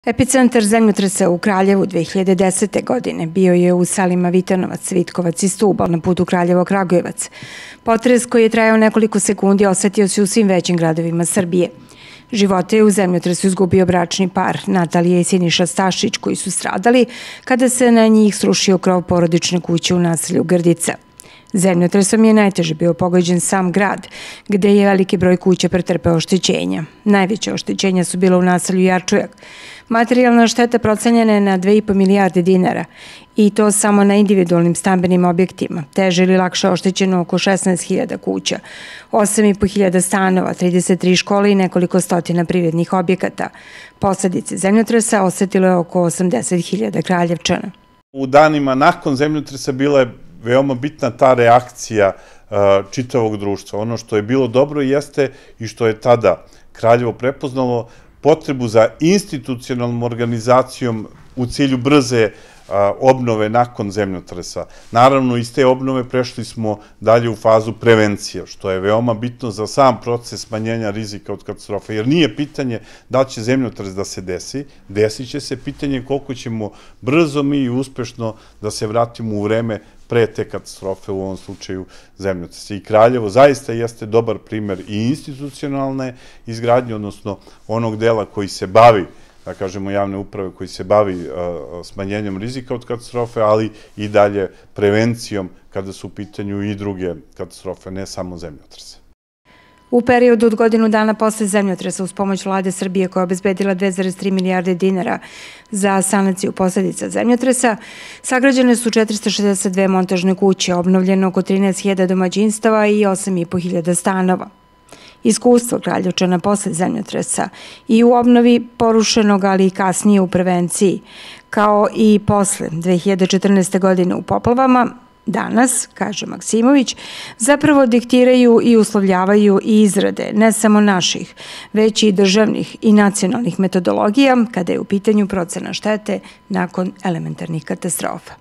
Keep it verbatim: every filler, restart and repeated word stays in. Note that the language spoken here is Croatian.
Epicentar zemljotresa u Kraljevu dve hiljade desete. godine bio je u selima Vitanovac, Vitkovac i Stubal na putu Kraljevo-Kragujevac. Potres koji je trajao nekoliko sekundi osetio se u svim većim gradovima Srbije. Živote je u zemljotresu izgubio bračni par Natalija i Siniša Stašić, koji su stradali kada se na njih srušio krov porodične kuće u naselju Grdica. Zemljotresom je najteže bio pogođen sam grad, gde je veliki broj kuća pretrpeo oštećenja. Najveće oštećenja su bila u naselju Jarčujak. Materijalna šteta procenjena je na dve i po milijarde dinara i to samo na individualnim stambenim objektima. Teže ili lakše oštećeno oko šesnaest hiljada kuća, osam i po hiljada stanova, trideset tri škole i nekoliko stotina privrednih objekata. Posledice zemljotresa osetilo je oko osamdeset hiljada Kraljevčana. U danima nakon zemljotresa bila je veoma bitna ta reakcija čitavog društva. Ono što je bilo dobro jeste i što je tada Kraljevo prepoznalo potrebu za institucionalnom organizacijom u cilju brze obnove nakon zemljotresa. Naravno, iz te obnove prešli smo dalje u fazu prevencije, što je veoma bitno za sam proces smanjenja rizika od katastrofe, jer nije pitanje da će zemljotres da se desi, desit će se, pitanje koliko ćemo brzo mi i uspešno da se vratimo u vreme pre te katastrofe, u ovom slučaju zemljotresa. I Kraljevo zaista jeste dobar primer i institucionalne izgradnje, odnosno onog dela koji se bavi, da kažemo javne uprave, koji se bavi smanjenjem rizika od katastrofe, ali i dalje prevencijom kada su u pitanju i druge katastrofe, ne samo zemljotrese. U periodu od godinu dana posle zemljotresa uz pomoć vlade Srbije koja je obezbedila dve zarez tri milijarde dinara za sanaciju posledica zemljotresa, sagrađene su četiristo šezdeset dve montažne kuće, obnovljeno oko trinaest hiljada domaćinstava i osam i po hiljada stanova. Iskustvo Kraljevčana posle zemljotresa i u obnovi porušenog, ali i kasnije u prevenciji, kao i posle dve hiljade četrnaeste. godine u poplavama, danas, kaže Maksimović, zapravo diktiraju i uslovljavaju i izrade ne samo naših, već i državnih i nacionalnih metodologija kada je u pitanju procena štete nakon elementarnih katastrofa.